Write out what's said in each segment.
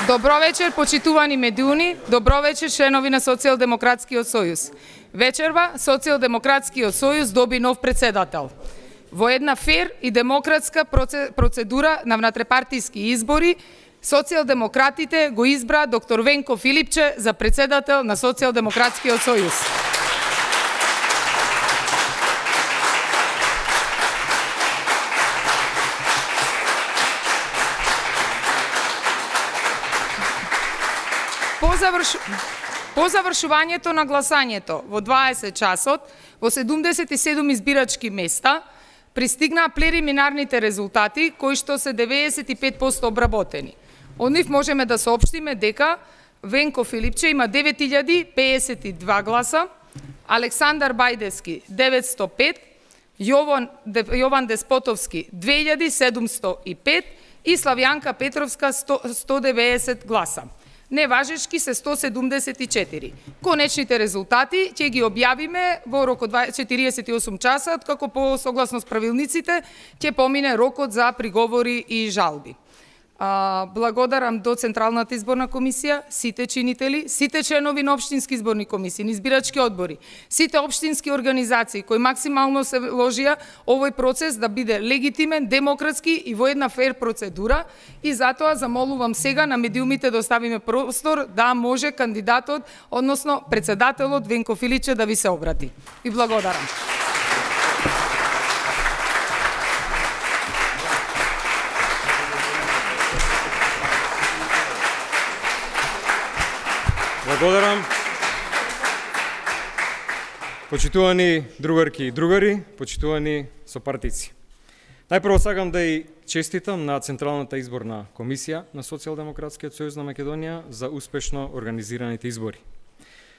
Добро вечер, почитувани медиуни, добро вечер, членови на Социјалдемократскиот сојуз. Вечерва, Социјалдемократскиот сојуз доби нов председател. Во една фер и демократска процедура на внатрепартиски избори, социјалдемократите го избра доктор Венко Филипче за председател на Социјалдемократскиот сојуз. По завршувањето на гласањето во 20 часот во 77 избирачки места пристигнаа прелиминарните резултати кои што се 95% обработени. Од нив можеме да соопштиме дека Венко Филипче има 9052 гласа, Александар Бајдевски 905, Јован Деспотовски 2705 и Славјанка Петровска 190 гласа. Неважечки се 174. Конечните резултати ќе ги објавиме во рок од 48 часа, откако по согласно с правилниците ќе помине рокот за приговори и жалби. Благодарам до Централната изборна комисија, сите чинители, сите членови на општински изборни комисии, на избирачки одбори, сите општински организации кои максимално се вложија овој процес да биде легитимен, демократски и во една фер процедура, и затоа замолувам сега на медиумите да оставиме простор да може кандидатот, односно председателот Венко Филипче да ви се обрати. И благодарам. Благодарам. Почитувани другарки и другари, почитувани сопартици. Најпрво сакам да и честитам на Централната изборна комисија на Социјалдемократскиот сојуз на Македонија за успешно организираните избори.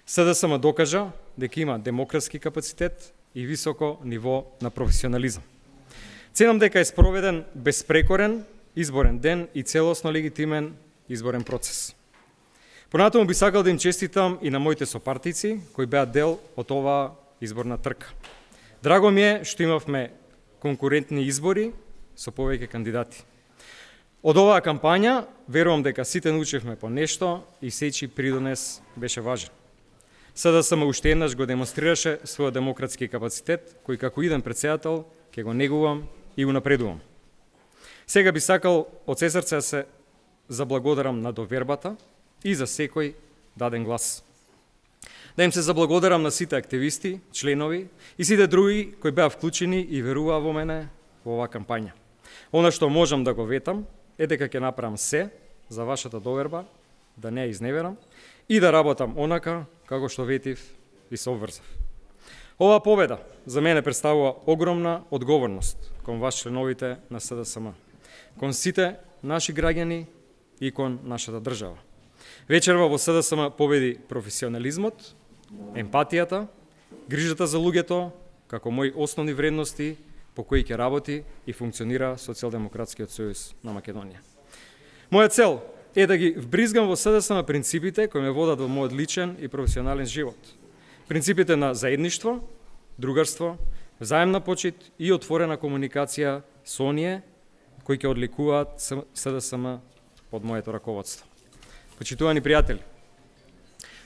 СДСМ докажа дека има демократски капацитет и високо ниво на професионализам. Ценам дека е спроведен безпрекорен изборен ден и целосно легитимен изборен процес. Понатаму би сакал да им честитам и на моите сопартици кои беа дел од оваа изборна трка. Драго ми е што имавме конкурентни избори со повеќе кандидати. Од оваа кампања верувам дека сите научивме по нешто и сечи придонес беше важен. СДСМ уште еднаш го демонстрираше својот демократски капацитет кој како иден председател ќе го негувам и го напредувам. Сега би сакал од се срце да се заблагодарам на довербата и за секој даден глас. Да им се заблагодарам на сите активисти, членови и сите други кои беа вклучени и веруваа во мене во оваа кампања. Она што можам да го ветам е дека ќе направам се за вашата доверба, да не ја изневерам и да работам онака како што ветив и се обврзав. Оваа победа за мене представува огромна одговорност кон вас членовите на СДСМ, кон сите наши граѓани и кон нашата држава. Вечерва во СДСМ победи професионализмот, емпатијата, грижата за луѓето, како мои основни вредности по кои ќе работи и функционира Социјалдемократскиот сојуз на Македонија. Моја цел е да ги вбризгам во СДСМ принципите кои ме водат во мојот личен и професионален живот. Принципите на заедништво, другарство, взаемна почит и отворена комуникација со оние кои ќе одликуваат СДСМ под моето раководство. Почитувани пријатели,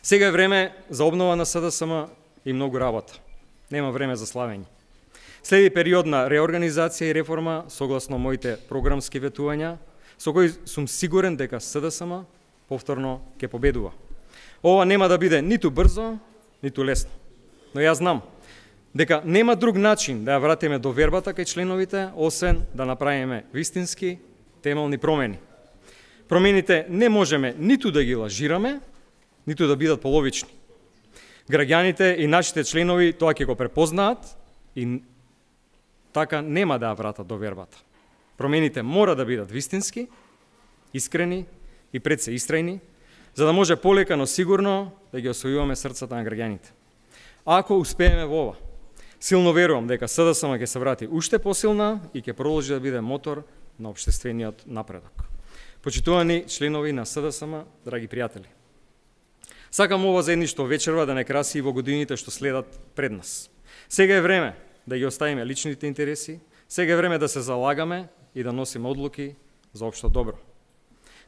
сега е време за обнова на СДСМ и многу работа. Нема време за славење. Следи период на реорганизација и реформа согласно моите програмски ветувања, со кои сум сигурен дека СДСМ повторно ќе победува. Ова нема да биде ниту брзо, ниту лесно. Но јас знам дека нема друг начин да ја вратиме довербата кај членовите, освен да направиме вистински темелни промени. Промените не можеме ниту да ги лажираме, ниту да бидат половични. Граѓаните и нашите членови тоа ќе го препознаат и така нема да ја вратат довербата. Промените мора да бидат вистински, искрени и пред се истрајни, за да може полека, но сигурно да ги освојуваме срцата на граѓаните. Ако успееме во ова, силно верувам дека СДСМ ќе се врати уште посилна и ќе продолжи да биде мотор на општествениот напредок. Почитувани членови на СДСМ, драги пријатели, сакам ова заедништво вечерва да не краси и во годините што следат пред нас. Сега е време да ги оставиме личните интереси, сега е време да се залагаме и да носиме одлуки за општо добро.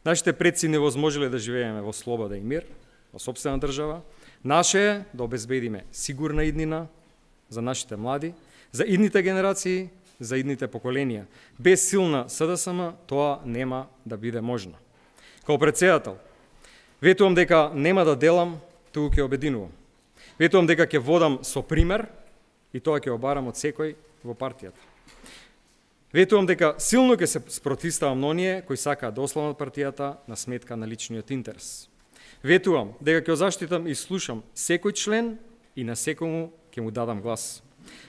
Нашите предци не возможеле да живееме во слобода и мир, во сопствена држава. Наше е да обезбедиме сигурна иднина за нашите млади, за идните генерации, за идните поколенија. Без силна СДСМ тоа нема да биде можно. Као председател, ветувам дека нема да делам, туку ќе обединувам. Ветувам дека ќе водам со пример и тоа ќе обарам од секој во партијата. Ветувам дека силно ќе се спротивставам на оние кои сакаат да ослабат партијата на сметка на личниот интерес. Ветувам дека ќе заштитам и слушам секој член и на секому ќе му дадам глас.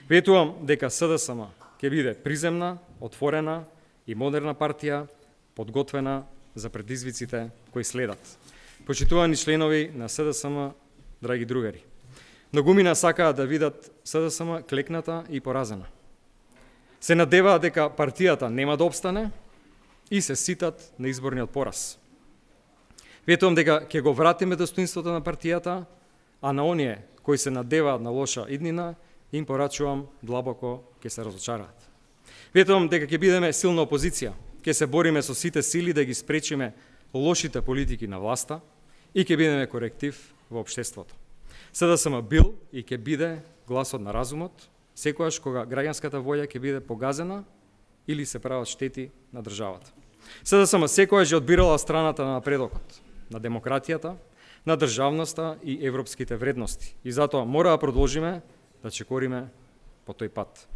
Ветувам дека СДСМ ќе биде приземна, отворена и модерна партија, подготвена за предизвиците кои следат. Почитувани членови на СДСМ, драги другари, многумина сакаат да видат СДСМ клекната и поразена. Се надеваат дека партијата нема да обстане и се ситат на изборниот пораз. Ветувам дека ќе го вратиме достоинството на партијата, а на оние кои се надеваат на лоша иднина, им порачувам длабоко ќе се разочараат. Ветувам дека ќе бидеме силна опозиција, ќе се бориме со сите сили да ги спречиме лошите политики на власта и ќе бидеме коректив во општеството. СДСМ бил и ќе биде гласот на разумот, секогаш кога граѓанската волја ќе биде погазена или се прават штети на државата. СДСМ секогаш ја одбирала страната на напредокот, на демократијата, на државноста и европските вредности. И затоа мора да продолжиме да чекориме по тој пат.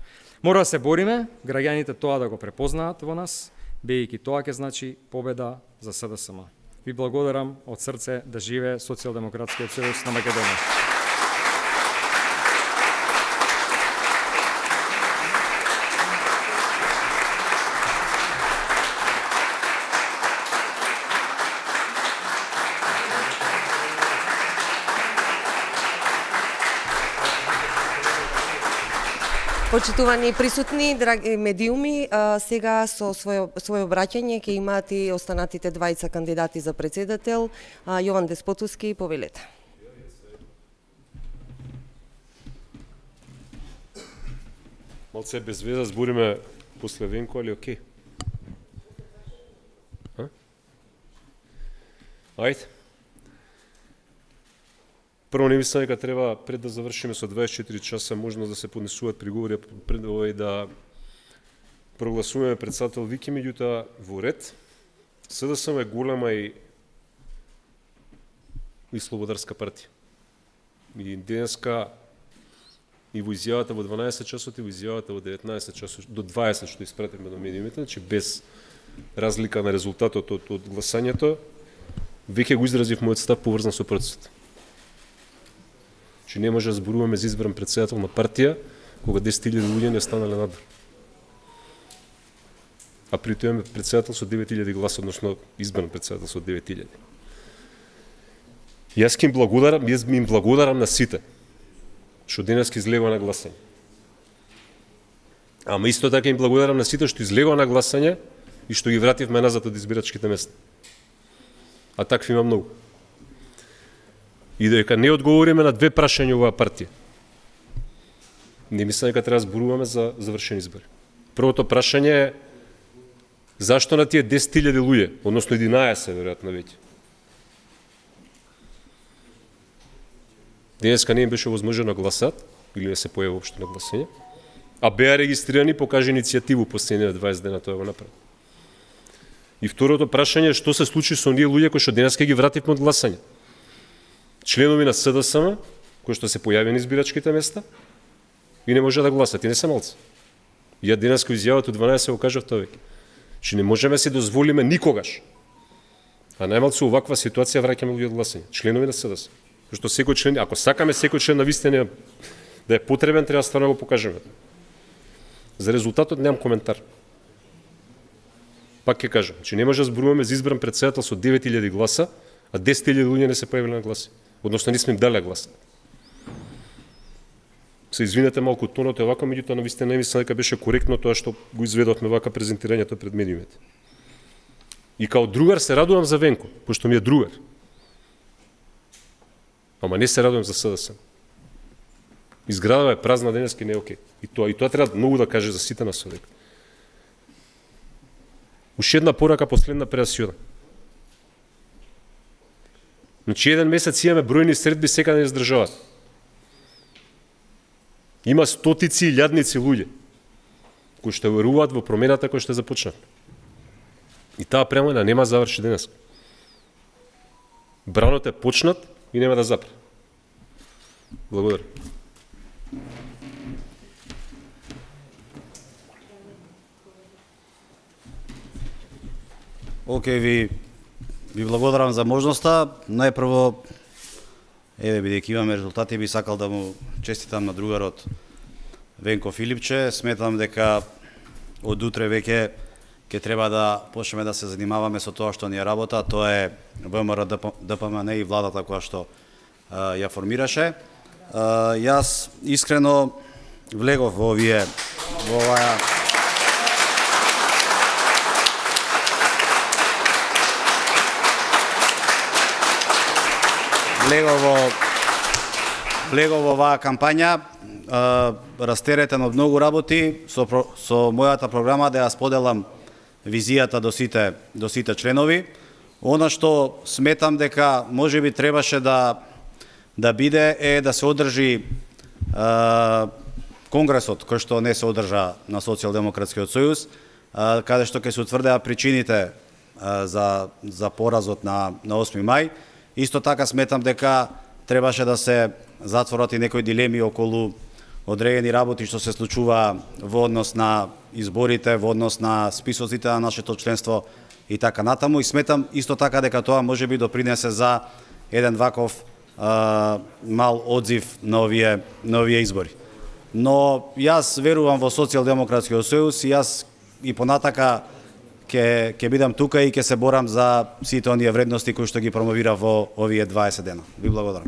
Мора да се бориме, граѓаните тоа да го препознаат во нас, бејќи тоа ќе значи победа за СДСМ. Ви благодарам од срце, да живее Социјалдемократскиот сојуз на Македонија. Почитувани присутни, драги медиуми, сега со своје обраќање ќе имаат и останатите двајца кандидати за председател. Јован Деспотовски, повелете. Малце без веза збориме после Венко, али окей? Ајде. Прво, не мислам дека треба пред да завршиме со 24 часа можност да се поднесуваат приговори пред овој да прогласуваме председател Вики, меѓутоа во ред. СДСМ е голема и слободарска партија. И денеска и во изјавата во 12 часот и во изјавата во 19 часот до 20 што испративме до медиумите, значи без разлика на резултатот од гласањето, веќе го изразив мојот став поврзан со процесот. Че не може да зборуваме за избран председател на партија кога 10.000 луѓе не останале надвор. А при тоа имаме председател со 9.000 гласа, односно избран председател со 9.000. Јас им благодарам на сите што денеска излегува на гласање. Ама исто така им благодарам на сите што излегува на гласање и што ги вративме назад од избирачките места. А такви има многу. И дека не одговориме на две прашања оваа партија. Не мислам дека треба да зборуваме за завршени избори. Првото прашање е зашто на тие 10.000 луѓе, односно 11 веројатно веќе. Денеска не им беше возможно гласат или не се појави воопшто на гласање, а беа регистрирани, покаже иницијативу последните 20 дена тоа го направи. И второто прашање е што се случи со оние луѓе кои што денеска ги вративме од гласање. Членови на СДСМ, кои што се појави на избирачките места и не може да гласат, и не се малци. Ја денеска изјавата од 12 го кажав тоа веќе. Че не можеме се дозволиме никогаш, а најмалку оваква ситуација враќаме луѓе од гласање, членови на СДСМ. Што секој член, ако сакаме секој член на вистина да е потребен, треба стварно го покажеме. За резултатот немам коментар. Пак ќе кажам, че не може да зборуваме за избран председател со 9.000 гласа, а 10.000 луѓе не се појавиле на гласи. Односно, не сме им дали глас. Се извинете малку тонот е вака, меѓутоа на вистина не мислам дека беше коректно тоа што го изведовме вака презентирањето пред медиумите. И као другар се радувам за Венко, пошто ми е другар. Ама не се радувам за СДСМ. Изградава е празна денеска и не е окей. И тоа треба многу да каже за сите нас овде. Уште една порака последна пред да си одам. Значи еден месец имаме бројни средби секаде низ државата. Има стотици и илјадници луѓе кои што веруваат во промената која што започна. И таа промена нема заврши денес. Бранот е почнат и нема да запре. Благодарам. Океј, ви благодарам за можноста. Најпрво, бидејќи имаме резултати, би сакал да му честитам на другарот Венко Филипче. Сметам дека од утре веќе ќе треба да почнеме да се занимаваме со тоа што ни е работа, тоа е ВМРО ДПМН и владата која што ја формираше. Јас искрено влегов во оваа влегов во оваа кампања, растеретен од многу работи, со мојата програма да ја споделам визијата до сите членови. Она што сметам дека можеби требаше да биде е да се одржи конгресот кој што не се одржа на Социјалдемократскиот сојуз, каде што ќе се утврдеа причините за поразот на 8 мај. Исто така сметам дека требаше да се затворат и некои дилеми околу одредени работи што се случува во однос на изборите, во однос на списоците на нашето членство и така натаму. И сметам исто така дека тоа може би допринесе за еден ваков мал одзив на овие избори. Но јас верувам во Социјалдемократскиот сојуз и јас и понатака ќе бидам тука и ќе се борам за сите оние вредности кои што ги промовира во овие 20 дена. Ви благодарам.